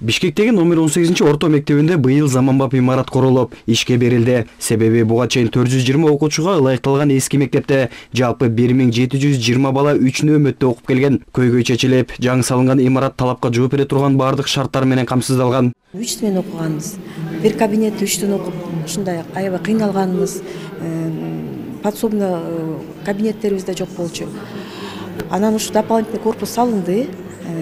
Бишкектеги номер 18-орто мектебинде быйыл заманбап имарат курулуп, ишке берилди. Себеби буга чейин 420 окуучуга ылайыкталган эски мектепте жалпы 1720 бала 3 нөөмөттө окуп келген. Көйгөй чечилип, жаңы салынган имарат талапка жооп бере турган бардык шарттар менен камсыздалган. 3 мен окуганбыз. Бир кабинетте 3төн окуп, ушундай аябай кыйналганбыз. Подсобный кабинеттерибизде жок болчу. Анан ушу дополнительный корпус салынды.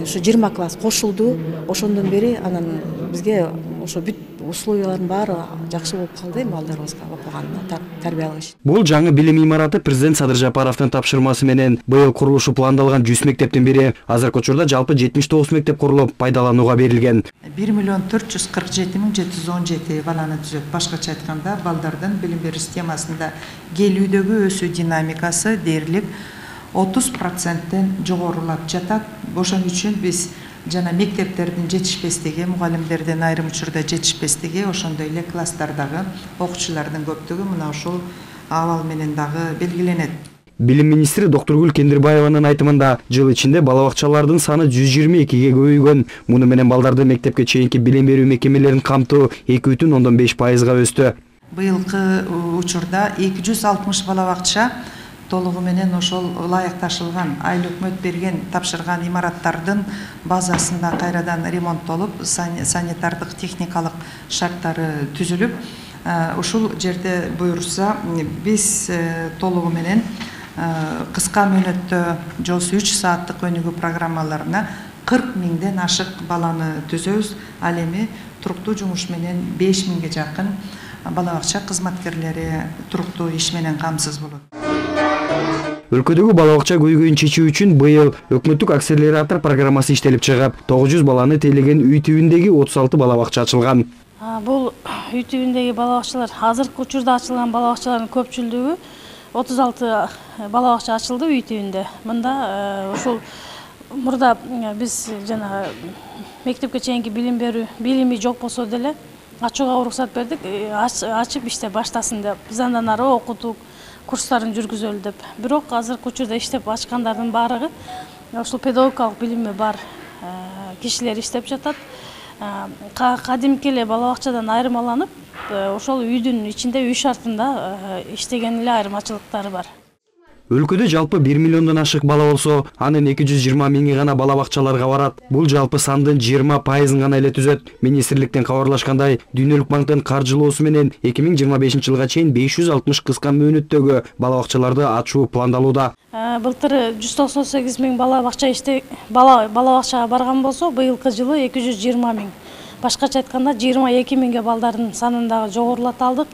Ушу 20 класс кошулду. Ошондон бери анан бизге ошо бүт условиялардын баары жакшы болуп калды балдарыбызга окуганына, тарбия алыш. Бул жаңы билим имараты президент Садыр Жапаровдун тапшырмасы менен быйыл курулушу пландалган 100 мектептин бири. Азыркы учурда жалпы 79 мектеп курулуп, пайдаланууга берилген. 1,447,717 баланы түзөт. Башкача айтканда, балдардын билим берүү системасында келүүдөгү өсүү динамикасы дээрлик 30%-тен жогорулап жатат. Ошон үчүн биз жана мектептердин жетишпестиги, мугалимдердин айрым учурда жетишпестиги, ошондой эле класстардагы окуучулардын көптүгү мына ушул абал менен дагы белгиленет. Билим министри Доктургүл Кендирбаеванын айтымында, жыл ичинде бала бакчалардын саны 122ге көбөйгөн. Муну менен балдарды мектепке чейинки билим берүү мекемелерин камтуу 2,5%-га өстү. Быйылкы учурда 260 бала бакча толугу менен ошол ылайыкташылган, айыл өкмөт берген, тапшырган имараттардын базасында кайрадан ремонттолуп, санитардык техникалык шарттары түзүлүп, ушул жерде буйрса биз толугу менен кыска мөөнөттө жолсу 3 сааттык өнүгүү программаларына 40 миңден ашык баланы түзөбүз. Ал эми туруктуу жумуш менен 5 миңге жакын бала бакча кызматкерлери туруктуу иш менен камсыз болот. Өлкөдөгү бала бакча көйгөйүн чечүү үчүн быйыл өкмөттүк акселератор программасы иштелип чыгып, 900 баланы тейлеген үй тибиндеги 36 бала бакча ачылган. Бул үй тибиндеги бала бакчалар азыркы учурда ачылган бала бакчалардын көпчүлүгү 36 бала бакча ачылды үй тибинде. Мында ушул мурда биз жана мектепке чейинки билим берүү билими жок болсо деле ачууга уруксат бердик, ачып иштеп баштасын деп. Биз андан ары окутук, курстарын жүргүзөлү деп. Бирок азыркы учурда иштеп ачкандардын баардыгы ушул педагогикалык билими бар кишилер иштеп жатат. Кадимки эле бала бакчадан айырмаланып, ошол үйдүн ичинде үй шартында иштеген эле айырмачылыктары бар. Өлкөдө жалпы 1 миллиондон ашык бала болсо, анын 220 миңи гана бала бакчаларга барат. Бул жалпы сандын 20%-ын гана эле түзөт. Министрликтен кабарлашкандай, Дүйнөлүк банктын каржылоосу менен 2025-жылга чейин 560 кыска мөөнөттөгү бала бакчаларды ачуу пландалууда. Былтыр 198 миң бала бакчага барган болсо, быйылкы жылы 220 миң. Башкача айтканда 22 миңге балдардын санын дагы жогорулата алдык.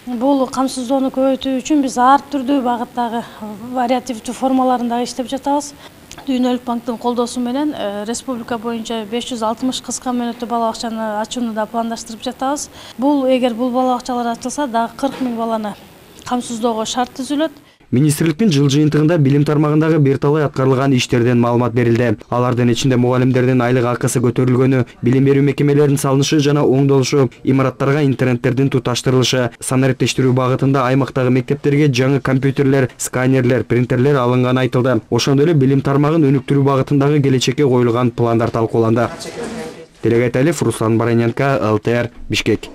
Бул камсыздоону көбөйтүү үчүн биз ар түрдүү багыттагы вариативдүү формаларында иштеп жатабыз. Дүйнөлүк банктын колдоосу менен республика боюнча 560 кыска мөөнөттүү бала бакчаны ачууну да пландаштырып жатабыз. Эгер бул бала бакчалар ачылса, дагы 40 миң баланы камсыздоого шарт түзүлөт. Министрликтин жыл жыйынтыгында билим тармагындагы бир талай аткарылган иштерден маалымат берилди. Алардын ичинде мугалимдердин айлык акысы көтөрүлгөнү, билим берүү мекемелеринин салынышы жана оңдолушу, имараттарга интернеттердин туташтырылышы, санариптештирүү багытында аймактагы мектептерге жаңы компьютерлер, сканерлер, принтерлер алынганы айтылды. Ошондой эле билим тармагын өнүктүрүү багытындагы келечекке коюлган пландар талкууланды. Делегат Алиев, Руслан Бараненко, ЛТР, Бишкек.